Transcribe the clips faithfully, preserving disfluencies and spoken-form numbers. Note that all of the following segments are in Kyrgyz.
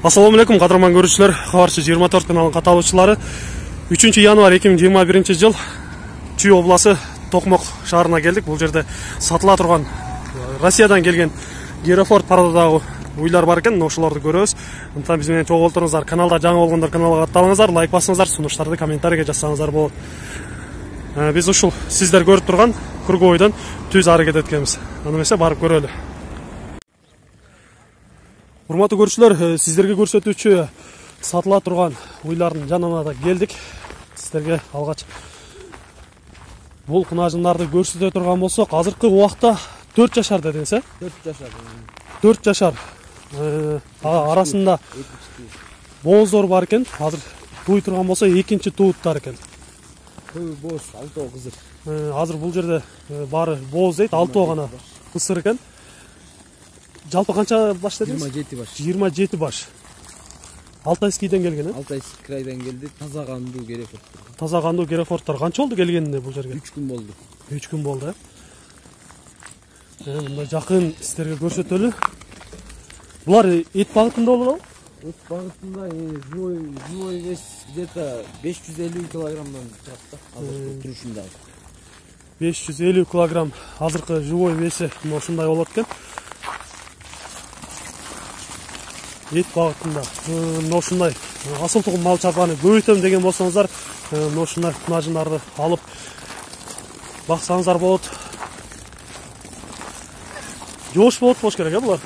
Ассаламу алейкум, кадырман көрүүчүлөр. Кабарчы жыйырма төрт каналынын каталуучулары. үчүнчү январь эки миң жыйырма биринчи жыл Чүй областы Токмок шаарына келдик. Бул жерде сатыла турган Россиядан келген Герофорд пародадагы уйлар бар экен. Ошолорду көрөбүз. Антан биз менен чогуу олтуруңуздар. Каналда жаңы болгондор каналга катталыңыздар, лайк басыңыздар, сунуштарды комментарийге жазсаңыздар болот. Биз ушул сиздер көрүп турган круговойдон түз аракет эткенбиз. Аны эмесе барып көрөлү. Урматтуу көрүүчүлөр, сиздерге көрсөтүүчү сатыла турган уйлардын жанына да келдик. Сиздерге алгач бул кунажындарды көрсөтө турган болсок, азыркы убакта төрт жашар дедиңиз, э? төрт жашар. төрт жашар. Арасында бооздор бар экен. Азыр туй турган болсо экинчи тууттар экен. Туй бооз, алтоо кызыр. Азыр бул жерде баары бооз дейт, алтоо гана ысыр экен. Жалпы канча баш дедиңиз? жыйырма жети баш. жыйырма жети баш. Алтайскийден келген, э? Алтайский крайдан келди, таза кандуу Герофордтор. Таза кандуу Герофордтор. Канча болду келгенине бул жерге? үч күн болду. үч күн болду, э? Мындай жакын сиздерге көрсөтөлү. Булар эт багытында болот, а? Эт багытында живой живой вес где-то беш жүз элүү килограммдан турат да, азыркы турушунда. беш жүз элүү килограмм азыркы живой веси ушундай болот экен. Эт багытында мына ушундай асыл тугум мал чарбаны көбөйтөм деген болсоңуздар, мына ушундай кунажындарды алып баксаңыздар болот. Жоош болот болуш керек, э, булар?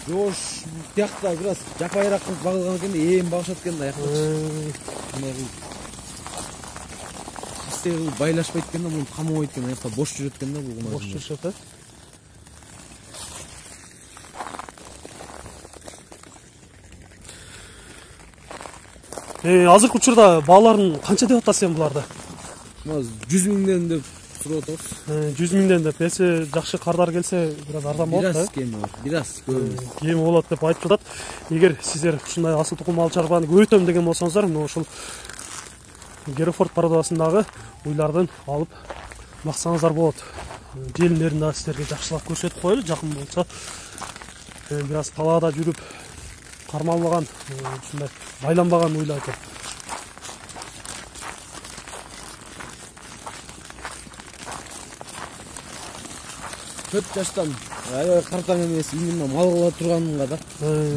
Жоош тиякта бир аз жапайыраак кылып багылган экен, ээн багышат экен да аякта. Истеги байлашпайт экен да, муну камабайт экен, аякта бош жүрөт экен да бул кунажындар. Бош жүрүшөт, э? Азыркы учурда бааларын канча деп атасыз сен буларды? жүз миңден деп сурап атабыз. жүз миңден деп. Эси жакшы кардар келсе, бир аз арзан болот да. Бир аз кеми бар, бир аз көбү. Кеми болот деп айтып жатат. Эгер сиздер ушундай асыл тукум мал чарбаны көбөйтөм деген болсоңуздар, мына ушул Герофорд пародасындагы уйлардын алып баксаңыздар болот. Желилерин да сиздерге жакшылап көрсөтүп коелу, жакын болсо. Бир аз талаада жүрүп кармалбаган, ушундай байланбаган уйлар экен. төрт жаштан аябай картаң эмес, именно мал кыла турганга да.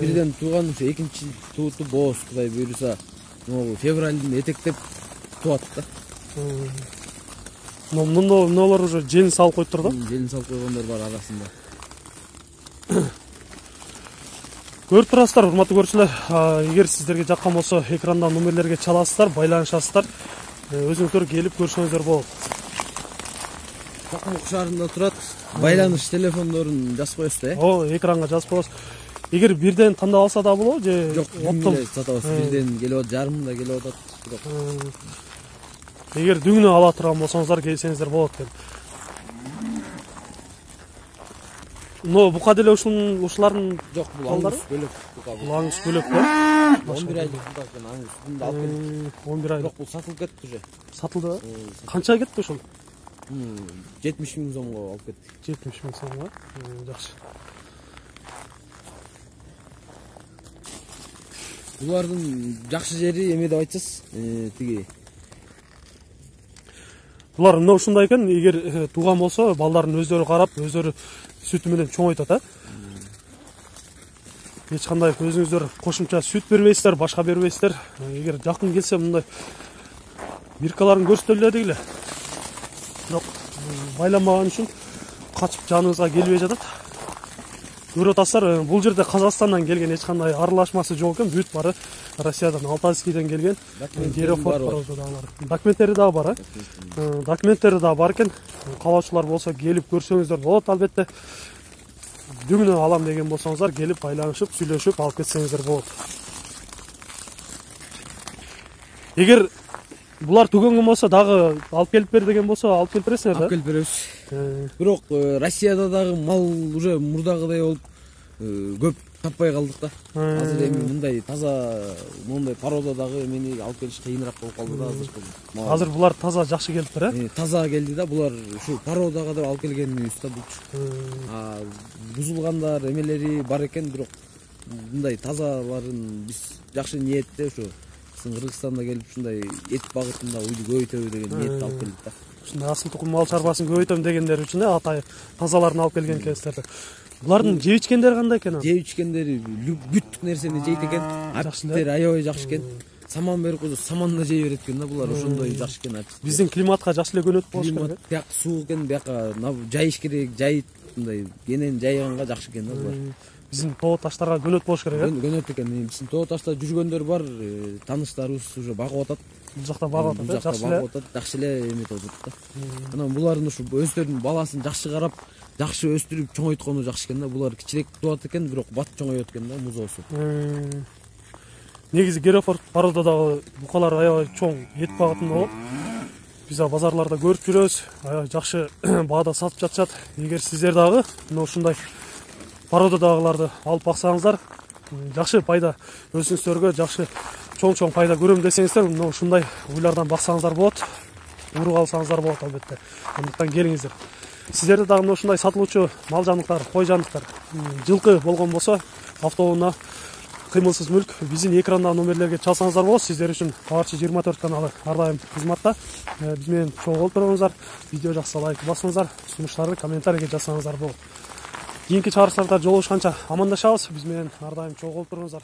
Бирден тууган, ошо экинчи тууту бооз, Кудай буйруса, могу февралдын этектеп туат да. Мында мыналар уже желин салып коюптур да? Желин салып койгондор бар арасында. Көрүп турасыздар, урматтуу көрүүчүлөр. Эгер сиздерге жаккан болсо, экрандан номерлерге чаласыздар, байланышасыздар. Өзүңүздөр келип көрсөңүздөр болот. Токмок шаарында турат. Байланыш телефондорун жазып коесуз да, э? О, экранга жазып коесуз. Эгер бирден тандап алса да болобу же жок, оптом сатабыз. Бирден келип атат, жарым да келип атат. Эгер дүңнү ала турган болсоңуздар, келсеңиздер болот экен. Но бука деле ушунун ушулардын жок, бул аңыз бөлөк бука. Бул аңыз бөлөк, э? он бир айлык бука экен, аңыз бунда алып келдик. он бир айлык. Бирок бул сатылып кетти уже. Сатылды. Канча кетти ушул? жетимиш миң сомго алып кеттик. жетимиш миң сомго. Жакшы. Булардын жакшы жери эме деп айтсыз, тиги. Булар мына ушундай экен, эгер тууган болсо, балдарын өздөрү карап, өздөрү сүтү менен чоңойтат, а? Эч кандай өзүңүздөр кошумча сүт бербейсиздер, башка бербейсиздер. Эгер жакын келсе, мындай биркаларын көрсөтөлү дегиле. Бирок байланбаган үчүн качып жаныбызга келбей жатат. Көрүп атасыздар, бул жерде Казакстандан келген эч кандай аралашмасы жок экен, бүт бары Россиядан, Алтайскийден келген Герофорд пародадагылар. Документтери дагы бар, э? Документтери дагы бар экен. Каалоочулар болсо келип көрсөңүздөр болот, албетте. Дүңнү алам деген болсоңуздар, келип байланышып, сүйлөшүп алып кетсеңиздер болот. Эгер булар түгөнгөн болсо, дагы алып келип бер деген болсо, алып келип бересиңер да? Алып келип беребиз. Бирок Россияда дагы мал уже мурдагыдай болуп көп таппай калдык да. Азыр эми мындай таза, мындай пародадагы эмени алып келиш кыйыныраак болуп калды да азыр. Азыр булар таза жакшы келиптир, э? Таза келди да, булар ушу пародага деп алып келгенибиз да булчу. А бузулгандар эмелери бар экен, бирок мындай тазаларын биз жакшы ниетте ошо биздин Кыргызстанда келип ушундай эт багытында уйду көбөйтөбү деген ниетти алып келдик да. Ушундай асыл тукум мал чарбасын көбөйтөм дегендер үчүн э атай тазаларын алып келген экенсиздер. Булардын жеп ичкендери кандай экен? Жеп ичкендери бүттүк нерсени жейт экен. Апчиктери аябай жакшы экен. Саман берип койсо саман да жей берет экен да, булар ошондой жакшы экен апчиктер. Биздин климатка жакшы эле көнөт болуш керек. Бияк суук экен, бияка жайыш керек, жайыт мындай кенен жайганга жакшы экен да булар. Биздин тоо таштарга көнөт болуш керек э. Көнөт экен. Биздин тоо ташта жүргөндөр бар, тааныштарыбыз уже багып атат. Бул жакта багып атат, жакшы эле. Багып атат, жакшы эле эметип атат да. Анан булардын ушу өздөрүнүн баласын жакшы карап, жакшы өстүрүп чоңойткону жакшы экен да. Булар кичирээк туулат экен, бирок бат чоңойот экен да, музоосу. Негизи Герефорд породадагы букалар аябай чоң эт багытында болот. Биз базарларда көрүп жүрөбүз, аябай жакшы баада сатып жатышат. Эгер сиздер дагы мына ушундай породадагыларды алып баксаңыздар, жакшы пайда өзүңүздөргө жакшы чоң-чоң пайда көрөм десеңиздер, мына ушундай уйлардан баксаңыздар болот. Уруп алсаңыздар болот албетте. Андыктан келиңиздер. Сиздерде дагы мына ушундай сатылуучу мал жандыктар, кой жандыктар, жылкы болгон болсо, автоунаа кыймылсыз мүлк биздин экрандагы номерлерге чалсаңыздар болот. Сиздер үчүн Кабарчы жыйырма төрт каналы ар дайым кызматта. Биз менен чогуу болуп туруңуздар. Видео жакса лайк басыңыздар, сунуштарды комментарийге жазсаңыздар болот. Кийинки чыгарыштарда жолугушканча амандашабыз. Биз менен ар дайым чогуу болуп туруңуздар.